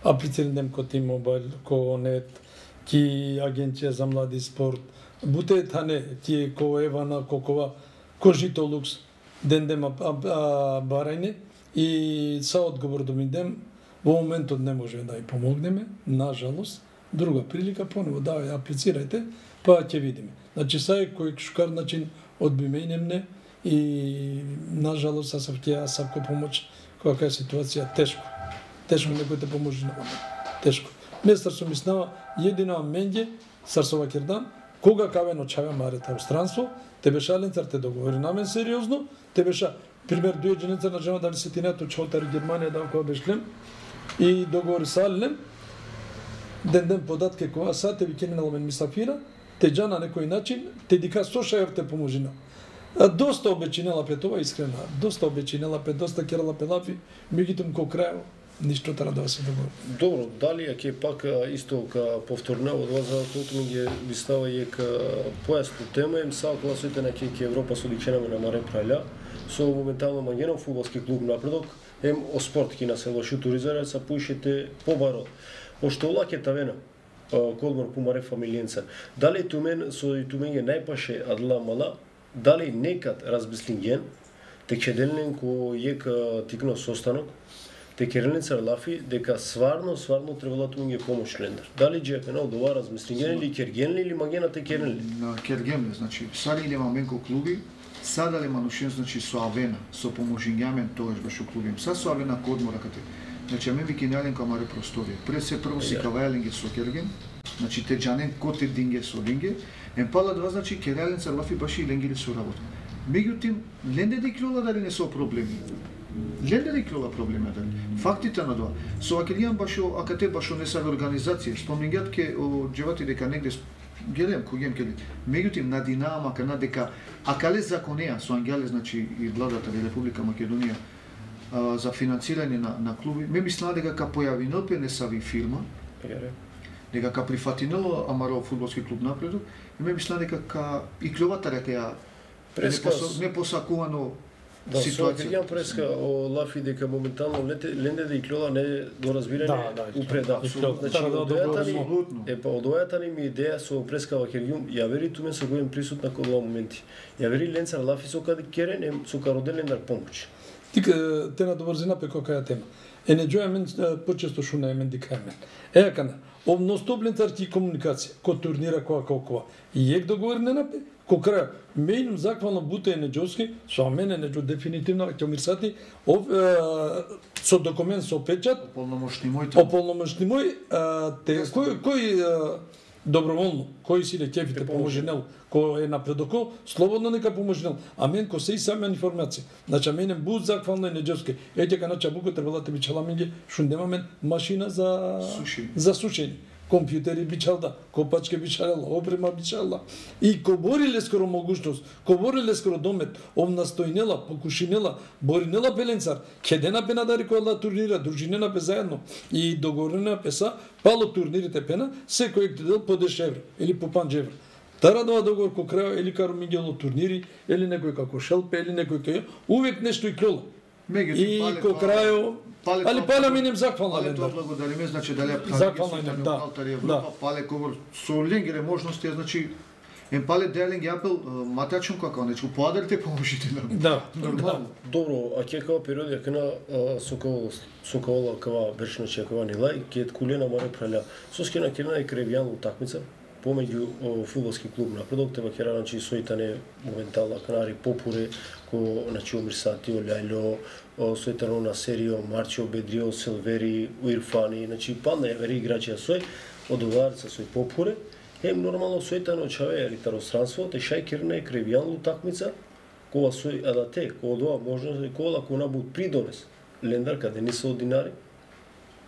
Speaker 2: Аплицирен дем ко T-Mobile, ко нет, ки агенција за млади спорт, буте тане тие ко Евана, ко кова, ко Жито Лукс, ден дем барајне и са одговор да ми дем, во моментот не може да ја помогнеме, нажалост, друга прилика поново да ја аплицирајте, па ќе видиме. Значи са е кој шукар начин одбименемне и нажалост са сав ќе савко помоќ која е ситуација тешко. Тешко некој те поможи на момент. Тешко. Местар сум мислава едина менѓе Сарсова Кердан, кога кавено чаве марета странство, те беше ленцар те договори на мен сериозно, те беше пример дујеџенеца на жена дали се тинето чотар Германија да кога бешлем и договори са лем ден ден податке кога са те викене на мен мисафира, те џана на некој начин, те дика со шајор те поможина. Доста обечинела пе това искрена, доста обечинела пе, доста керала пе лафи, меѓутоа ко крај ништо треба да се договори.
Speaker 1: Добро, дали е ке пак исто ка повторна од вас за тоа ми ги ви става е ка појасно тема им са класите на ке Европа со дикшенаме на Маре Праља со моментално мангенов фудбалски клуб Напредок ем о спорт ки на село Шутуризаре са пуишете побаро. Пошто лаке тавена колмор по Маре фамилиенца. Дали тумен со и тумен е најпаше адла мала, дали некад размислинген те чеделнен ко ека тикно состанок те керелница лафи дека сварно сварно требало да ги помош лендар. Дали џе пенал дова размислинген или керген или магена те керели?
Speaker 3: На керген, значи сади иле маменко клуби, садале манушен значи со авена, со поможињамен тогаш беше клубим. Са со авена кодмора кате. Значи аме ви кинален камаре просторија. Пред се прво си кавајалинге со керген, значи те џанен коте динге со динге, ем пала два значи кереленца лафи баши ленгили со работа. Меѓутоа, ленде да клола дали не со проблеми. Ленде да клола проблеми дали. Фактите на тоа. Со акелијан башо акате башо не са организација. Спомнигат ке о џевати дека негде гледам кој ке. Меѓутоа на Динамо кана дека акале законеа со ангеле значи и владата на Република Македонија а, за финансирање на на клуби. Ме мислам дека ка појавинал пе не сави фирма. Дека ка прифатинало Амаро фудбалски клуб Напредок, ме мислам дека ка и клубата дека ја преска не посакувано
Speaker 1: да, ситуација. Да, преска о лафи дека моментално ленде да и клола не до разбирање да, да, упреда. Значи одојата ни е па одојата ни ми идеја со преска Вакергиум, ја вери тумен со гоен присутна кога моменти. Ја вери ленцар лафи со каде керен со кароден лендар помош.
Speaker 2: Тика те на добрзина пе која тема. Е не џоја мен почесто шуна е мен дика мен. Е кана обностоплен царти комуникација, ко турнира која колкова. И ек договор не напе, ко крај мејнум заквално буте неџовски, со мене неџо дефинитивно ќе мирсати ов со документ со печат,
Speaker 3: ополномошни мој.
Speaker 2: Ополномошни мој те кој кој доброволно, кој си ле кефите поможенел, кој е напредоко, слободно нека поможенел. А мен ко се и сама информација. Значи мене буд захвално и неџевски. Еќе ка на чабуко требала да бичала меѓу што немаме машина за
Speaker 3: Сушење.
Speaker 2: за сушење. Компјутери бичалда, копачке бичалела, опрема бичалда. И ко бориле скоро могушност, ко бориле скоро домет, овна стојнела, покушинела, боринела пеленцар, кедена пена да рекола турнира, дружинена пе заедно и договорена песа, пало турнирите пена, секој дел по десет евра или по пет евра. Тарадова договор ко крај или каро миѓало турнири, или некој како шелпе, или некој кај, увек нешто и клола. И ко крајо, али пале минем захвална
Speaker 3: Пале
Speaker 2: лендар.
Speaker 3: тоа благодариме, значи дали
Speaker 2: Захвална лендар, да.
Speaker 3: да. Пале ковор со ленгере можности, значи ем пале делинг апел матачун како нечку поадарите поможите нам.
Speaker 2: Да,
Speaker 3: Нормално.
Speaker 1: Добро, а ќе као периоди кена сокол сокола кава бершна чекова нила и ќе кулена море праля. Соскена кена и кревјан утакмица помеѓу фудбалски клуб Напредок, тева ќе ранчи соитане моментално канари попуре ко значи Омирсати, Олјајло, соитано на Серио, Марчо, Бедрио, Селвери, Уирфани, значи падна евери играчи сој одоварца сој попуре. Ем нормално соитано чаве ритаространство, те шај керна и кревјан утакмица, кога сој адате, кога дова можност кола кона буд придонес. Лендар каде не се одинари.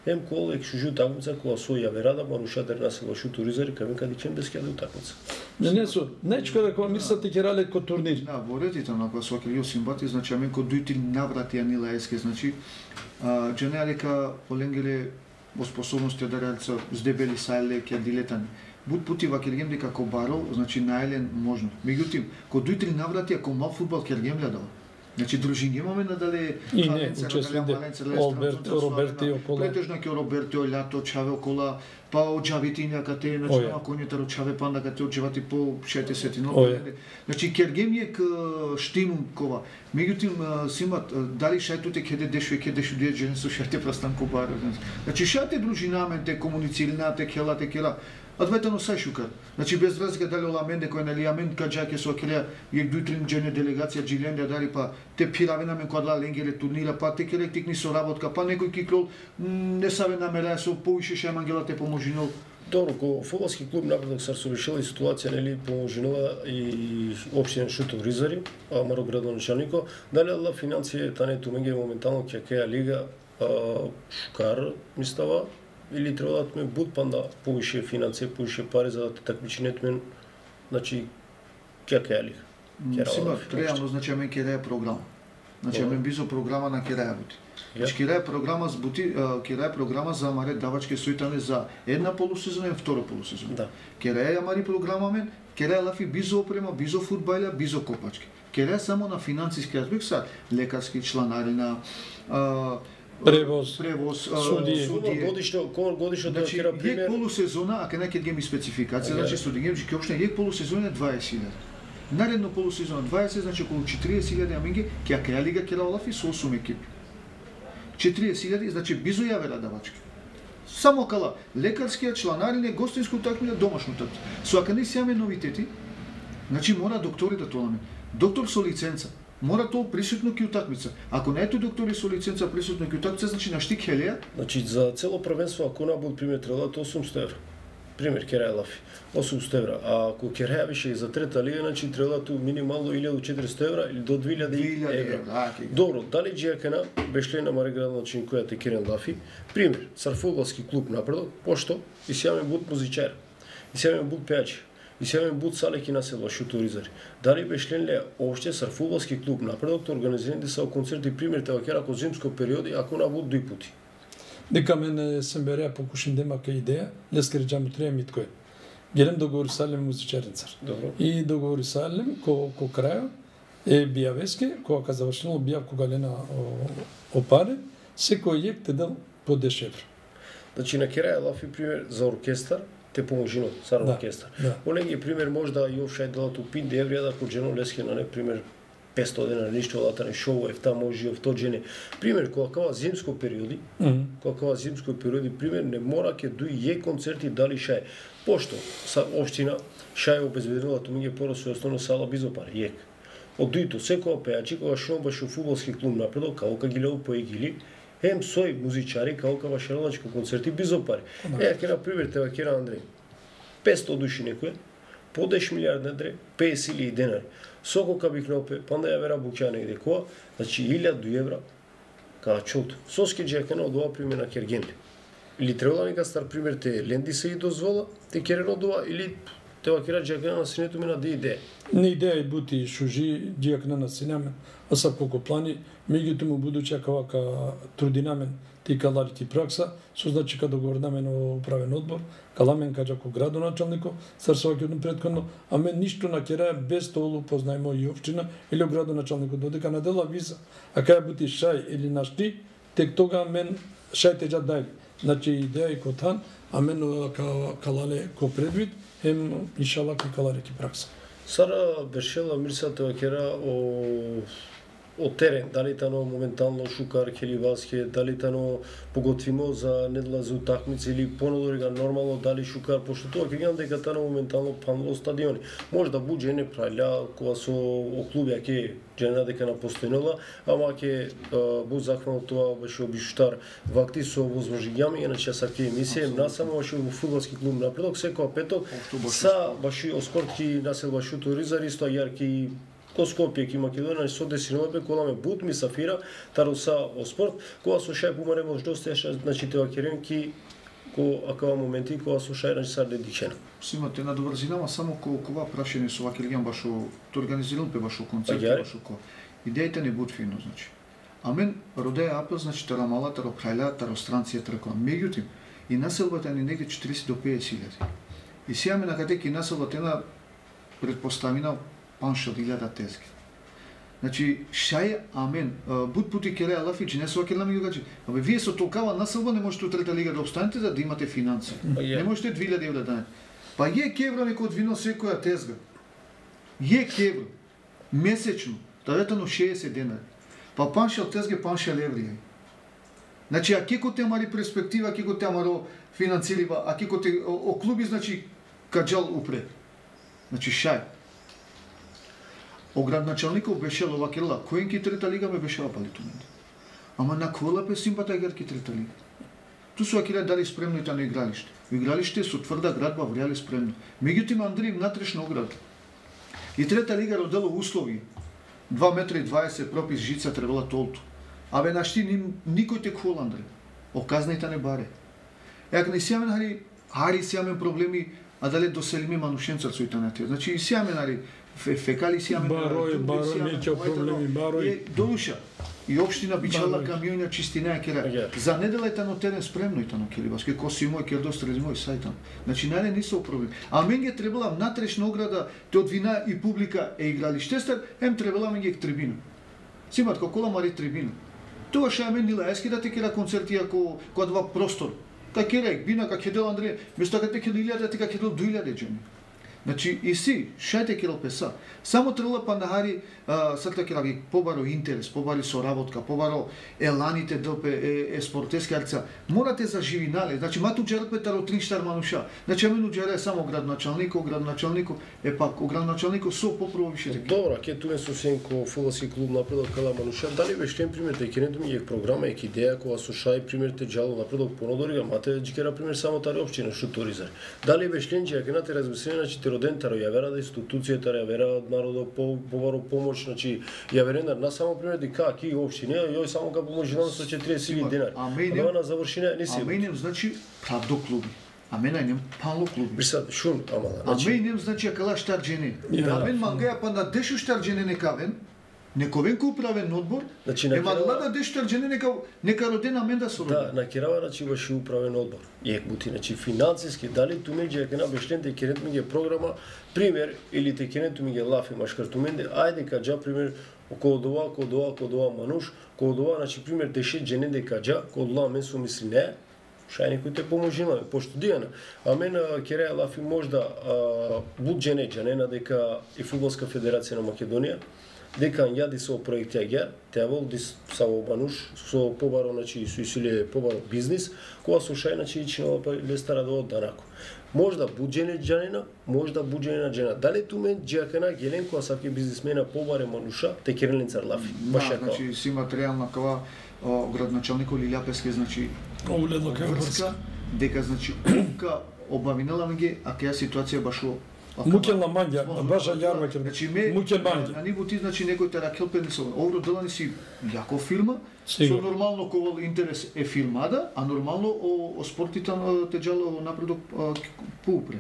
Speaker 1: Ем кола ек шужу утакмица кога сој јаверада марушатер на се вашу туризари кај каде ќе без каде утакмица.
Speaker 2: Не не со, нечко да кога мислате ќе рале ко турнир.
Speaker 3: Да, во редите на која со Килио Симбати, значи амен ко дујти наврати анила еске, значи а джене дека поленгеле во способности да реалица здебели сајле ќе дилетани. Буд пути ва кергем дека ко барол, значи најлен можно. Меѓутоа, ко дујти наврати ако мал фудбал кергем гледал. Значи дружини имаме надале
Speaker 2: И не, учесвите Олберт, Роберти окола.
Speaker 3: Претежно ке Роберти Олјато Чаве окола, па оџавитиња кате, значи нема конјетар Чаве панда кате оџавати по шестдесет но. Значи кергем е к штимум кова. Меѓутоа симат дали шајтуте кеде дешу кеде дешу де жен со шајте прастанку бар. Значи шајте дружинamente комунициринате келате кела. Адветено сај шукар. Значи без разлика дали ола менде кој нали амен каџаке со келе јек дујтрин джене делегација джиленде дали па те пиравена мен кодла ленгеле турнира па те келе тикни со работка па некој киклол не саве намера со повише шемангела те поможинол.
Speaker 1: Добро, ко фудбалски клуб Напредок се решила и ситуација нели поможинува и општина Шутов Ризари, а Маро градоначалнико, дали ла финансија тане тумење моментално ќе кеја лига шукар мислава или треба да ме буд панда повише финансија, повише пари за да такмиченето мен, значи ќе кеја лига.
Speaker 3: Сима реално значи амен ќе програма. Значи амен бизо програма на ќе бути. Значи ќе програма с бути, ќе програма за маре давачки соитане за една полусезона и втора полусезона.
Speaker 1: Да.
Speaker 3: Ќе амари програма мен, ќе лафи бизо опрема, бизо фудбајла, бизо копачки. Ќе само на финансиски аспект са лекарски чланарина,
Speaker 2: превоз,
Speaker 3: превоз,
Speaker 2: судија.
Speaker 1: Судија. Годишно, годишно да
Speaker 3: значи,
Speaker 1: кера пример.
Speaker 3: Јек полусезона, а кај ќе ми спецификација, значи судија, ќе опште јек полусезона дваесет илјади. Наредно полусезона дваесет, значи околу четириесет илјади аминги, ќе каја лига ќе лафи со осум екипи. четириесет илјади, значи бизо јавера давачки. Само кала лекарскија чланарине, гостинско такмиње, домашно такмиње. Со ака не се јаме новитети, значи мора доктори да толаме. Доктор со лиценца. Мора тоа присутно ки утакмица. Ако не ето доктори со лиценца присутно ки утакмица, значи на штик хелија.
Speaker 1: Значи за цело првенство ако на буд пример треба да осумсто евра. Пример Керај лафи осумсто евра, а ако Керај више и за трета лига, значи треба да минимално илјада и четиристо евра или до две илјади евра. Добро, дали Джијакена беше на Маре градоначалник која те Керен лафи? Пример, сар фудбалски клуб Напредок, пошто и сјаме буд музичар, и сјаме буд пејачи. И сега ми буд салеки на село Шутуризари. Дали беше ле опште сар фудбалски клуб Напредок организирани са концерти пример тева кера ко зимско периоди ако на буд дуј пути.
Speaker 2: Дека мене сем береа покушин демака идеја, лескери џаму треја миткој. Гелем договори салем музичаренцар.
Speaker 1: Добро.
Speaker 2: И договори салем ко ко крајо е бија веске, кога завршило бија кога лена опаре, секој јек те дал по десет евра.
Speaker 1: Значи на Керај лафи пример за оркестар те поможино сар
Speaker 2: да,
Speaker 1: оркестар.
Speaker 2: Да.
Speaker 1: Оленги пример можда и овшај делат упин деврија да ко джено леске на не пример петсто дена ништо латане шоу ефта може ов то джене. Пример кога кава зимско периоди, mm -hmm. кога кава зимско периоди пример не мора ке дуј е концерти дали шај. Пошто са општина шај обезбедила тумиње поросо основно сала Бизопар јек. Од дуито секоја пејачи кога шо баше фудбалски клуб Напредок као ги леу поегили ем сој музичари као кава шаралачко концерти Бизопари. Е, ке на пример тева кера Андреј. петстотини души некој, по десет милиарди недре, петдесет илјади денари. Соколка бих наопе, па да ја вера буќа негде која, значи илјаду евра, каја чолто. Соски джекана од ова пример на Кергенли. Или требала нека стар пример те ленди се и дозвола, те керен од ова, или те вакира джекана на синето ми на де идеја.
Speaker 2: Не идеја и бути шужи джекана на синемен, а са колко плани, меѓутоа му будуча кавака трудинамен ти каларити пракса, со значи каде го орнамен во управен одбор, каламен каджако градоначалнико, старсоваќето предходно, а мен ништо на кераја без толу познаемо и општина или градоначалникот додека на дела виза, а кај бути шај или нашти, тек тога мен шајте џа дајли. Значи идеја и котан, а мен калале ко предвид, ем иншалла ки каларити пракса.
Speaker 1: Сара Бершела мирсата вакера о од терен, дали тано моментално Шукар, Келиваске, дали тано поготвимо за недела за утакмици или понадорига нормално дали Шукар, пошто тоа ќе гледам дека тано моментално панело стадиони. Може да буџе не праља кога со о клуби ќе джена дека на постојнола, ама ќе бу захвално тоа беше обиштар вакти со возможњами, иначе са ке емисија, насамо беше во фудбалски клуб Напредок секоја петок, са баши оскортки насел башу туризар исто јарки ко Скопје, ки Македонија, со десинове, коламе бут, ми сафира, таруса о спорт, кога со шај помаре може доста, значи тева керенки, ко акава моменти, кога со шај, значи са дедичена.
Speaker 3: Си имате на добрзинама, само ко кова прашање со вакилјан башо, то организиран пе башо концерт, башо ко. Идејите не буд фино, значи. А мен родеја апел, значи тара мала, таро прајла, таро странција, трако. Меѓутим, и населбата ни негде четириесет до педесет илјади. И сега ме накаде ки населбата една предпоставина паншел илјада тезги. Значи, шај, амен, буд пути кереа лафичи, не со акелами југачи. Абе, вие со толкава населба не можете у трета лига да обстанете за да имате финанси. Не можете две илјади евра да дадете. Па е кевра некој од вино секоја тезга. Е кевра. Месечно. Таветано шеесет денари. Па паншел тезга, паншел еври. Значи, а кеко те мари перспектива, кеко те маро финансирива, а кеко те о клуби, значи, каджал упред. Значи, шај. Оградначалников беше ловакела, коен ки трета лига ме беше апалито мене. Ама на кола пе симпата гер ки трета лига. Ту со акиле дали спремно и та на игралиште. Игралиште со тврда градба вреали спремно. Меѓутоа Андреј внатрешна ограда. И трета лига родело услови. два метра и дваесет пропис жица требала толто. Абе нашти никој те кола Андреј. Оказнајта не баре. Як не сјамен хари, хари сјамен проблеми, а дали доселиме манушенца со итанатија. Значи и сјамен хари, фекали сјамен,
Speaker 2: барој, барој, меќа проблеми, барој.
Speaker 3: Доуша. И општина бичала камионја чистина кера. За недела е тано терен спремно и тано Келивас, ке коси мој ке дострез мој сајтан. Значи најде не со проблем. А мен ги требала внатрешна ограда, те од вина и публика е игралиште стар, ем требала мен ги трибина. Симат кола мари трибина. Тоа ша мен нила ески да те кера концерти ако кога два простор. Ка кера бина ка кедел Андреј, место ка те кедел илјада, те ка кедел две илјади джени. Значи, и си, шајте керал песа. Само требала пандахари, срта кера ги побаро интерес, побари соработка, побаро еланите ДП, е, е спортески арца. Морате за живинале. Значи, мату джерпе таро тринштар мануша. Значи, амену джере само градоначалнико, градоначалнико, е пак, о градоначалнико со попрво више реки.
Speaker 1: Добра, ке туе со сенко фудбалски клуб Напредок кала мануша. Дали беше пример те кенето ми е програма е идеја кога со шај пример те джало Напредок понодорига, мате джикера пример само тари општина што туризар. Дали беше ленџи, ако нате размислени, значи роден таро ја вера да институцијата ја вера од народот по побаро помош, значи ја верена на само пример дека ки општина јој само га поможи нам со четириесет илјади денари.
Speaker 3: А мене
Speaker 1: на завршина не си.
Speaker 3: А мене значи правдо клуби. А мене нем пало клуби.
Speaker 1: Бисат шун ама.
Speaker 3: А мене значи акала штар джене. А мен мангаја па на дешу штар джене некавен. Нековен ку управен одбор, значи, ема влада дештар джене нека, нека родена мен да се роди.
Speaker 1: Да, на Кирава значи беше управен одбор. Ек бути, значи финансиски, дали ту меѓу дека на бешлен те керет ми ге програма, пример, или те керет ми ге лафи машкартуменде, ајде каджа, пример, околу дова, околу дова, околу дова мануш, околу дова, значи, пример, деше джене де каджа, околу дова мен су мисли не, шај некој те поможила, пошто дијана. А мен кереја лафи можда буд джене джанена дека и Фудбалска федерација на Македонија, дека јади со проекти агер, те волди са обануш со побаро, значи со исиле побаро бизнис, кога со шај значи ичинала па лестара до данако. Можда буџене джанена, можда буџене джена. Дали ту мен джакана гелен кога саке бизнисмена побаре мануша, те кереленцар лафи.
Speaker 3: Да, значи си материјална кава градоначалникот Лилја Пески, значи
Speaker 2: Оледно
Speaker 3: врска, дека значи ока обавинела меѓе, а кеја ситуација башо
Speaker 2: Мукелна манѓа, баша јармакер.
Speaker 3: Значи ме
Speaker 2: Мукел манѓа.
Speaker 3: на ниво ти значи некој тера келпени со овро делани си јако фирма,
Speaker 2: Сигурно.
Speaker 3: со нормално ковал интерес е фирмада, а нормално о, о спортите те джало напредок поупре.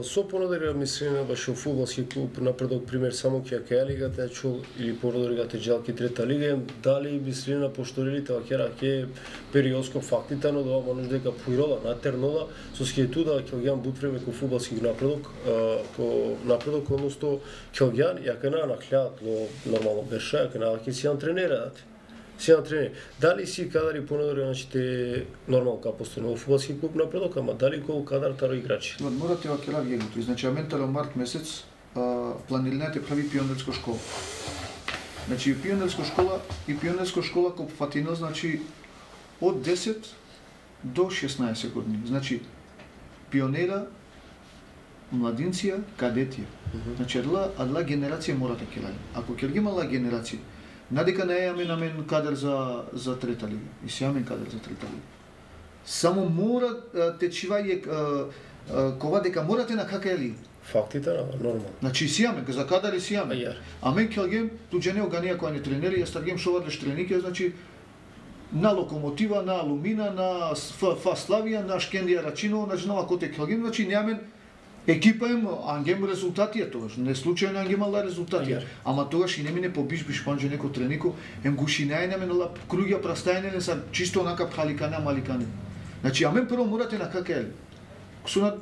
Speaker 1: Со понадега мислиме баш о фудбалски клуб напредок пример само ќе каја лигата чул или понадега те джалки трета лига, дали мислиме пошторилите вакера ќе периодско фактите но да може дека поирола на тернола со скетуда ќе бут време ко фудбалски напредок, ко напредок односто ќе ја на нахлят нормално беше, ќе на ќе си антренерат. Си антренер. Дали си кадари понадега значи те нормално ка постојано фудбалски клуб напредок, ама дали кол кадар таро играчи?
Speaker 3: Морате вакера виегото. Значи аментара март месец планираните прави пионерска школа. Значи пионерска школа и пионерска школа кој фатина значи од десет до шеснаесет години. Значи пионера, младинција, кадетија. Значи адла адла генерација мора да ќе ради. Ако ќе ги имала генерација, надека не е амен амен кадер за за трета лига. И си амен кадер за трета лига. Само мора те чиваје кова дека морате на кака лига.
Speaker 1: Фактите нормално.
Speaker 3: Значи си амен, за кадар и си амен. Амен келгем туџене оганија која не тренери, ја старгем шовадле штренике, значи на Локомотива, на Алумина, на Фа Славија, на Шкендија Рачиново, значи нова коте келгем, значи неамен екипа им ангем резултатија тогаш, не случајно ангем ала резултатија. Ама тогаш и не мине по биш биш панџе неко тренико, ем гушинајне мен ала круѓа прастајне са чисто онака пхаликане маликане. Значи амен прво морате на кака е. Со на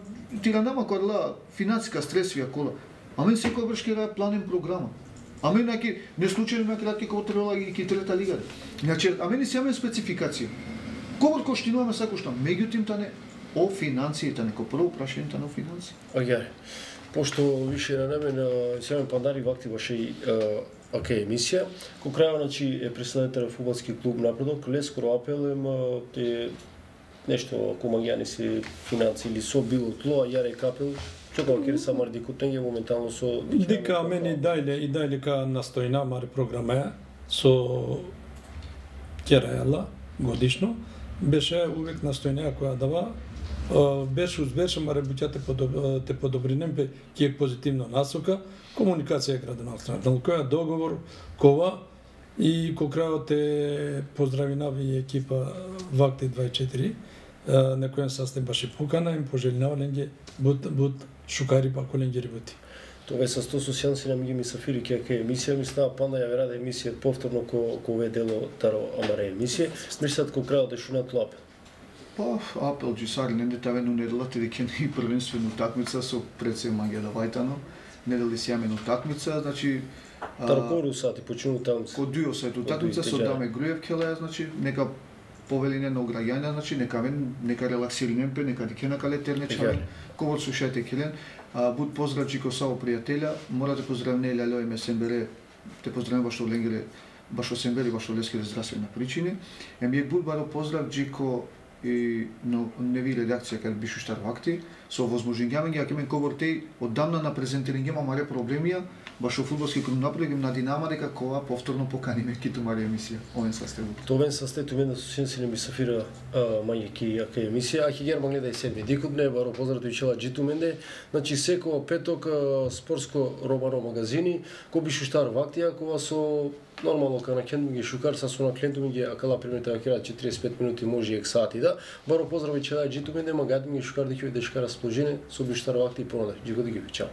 Speaker 3: тиранама кола финансиска стресвија кола. Амен секој бршке ра планен програма. Амен неки не случајно ме кратки кога требала и ки трета лига. Значи амен си амен спецификација. Кога коштинуваме сако што, меѓутоа тане о финансиите, неко прво прашањето на финанси.
Speaker 1: Оѓе, пошто више на неме сега пандари вакти баше и оке емисија, кој крајава значи е представител фудбалски клуб напредок, лескоро апелем те нешто комаѓани се финанси или со било тло, јаре капел, чокава ке самар дикутење моментално со
Speaker 2: дека мене дајле и дајле ка настојна мари програма со керајала годишно, беше увек настојна која дава беше узбеше, маре буќате те подобринем бе ке позитивно насока, комуникација градонационална, која договор кова и кој крајот е поздравинави и екипа Вакти двајсет и четири, на кој састав баше покана им пожелнавање бут бут шукари па коленги работи.
Speaker 1: Тоа е со сто сосјанси на миѓи ми сафири ке ке емисија ми става панда ја верада емисија повторно ко ко ве дело таро амаре емисија, мислат ко крајот е шунат лапел.
Speaker 3: Па, апел джисари, не детавено неделата дека и првенствено такмица со предсе Магеда Вајтано, недели си јамено такмица, значи
Speaker 1: Таркору сати почину таму.
Speaker 3: Ко дуо сајту такмица со Даме Груев келе, значи нека повелине на ограѓања, значи нека мен нека релаксиринем пе, нека дикена кале тернечари. Ковор слушајте келен, буд поздрав Джико Сао пријателја, мора да поздравне Лјалјо и Месембере, те поздравам башо Ленгере, башо Сембери, башо Лескере здравствени причини. Емије буд баро поздрав Джико и но не ви редакција кај бишу штар вакти со возможување ќе мен ковортеј оддамна на презентирање маре проблемија баш фудбалски клуб направи на Динамо дека кога повторно поканиме киту маре емисија овен состав.
Speaker 1: Тоа состав мен да се сенси ми сафира мање ки ака емисија, а ќе герман гледа и седми дикупне баро поздрав чела джиту менде, значи секој петок спортско романо магазини кој бишу штар вакти кога со нормално кога на клиент ми ги шукар са со на клиенту ми ги акала примерно ќе четириесет и пет минути може и сати да баро поздрави чела джиту менде магад ми ги шукар да ќе дешка расположение со бишу штар вакти и понадеж. Джиго да ги чао.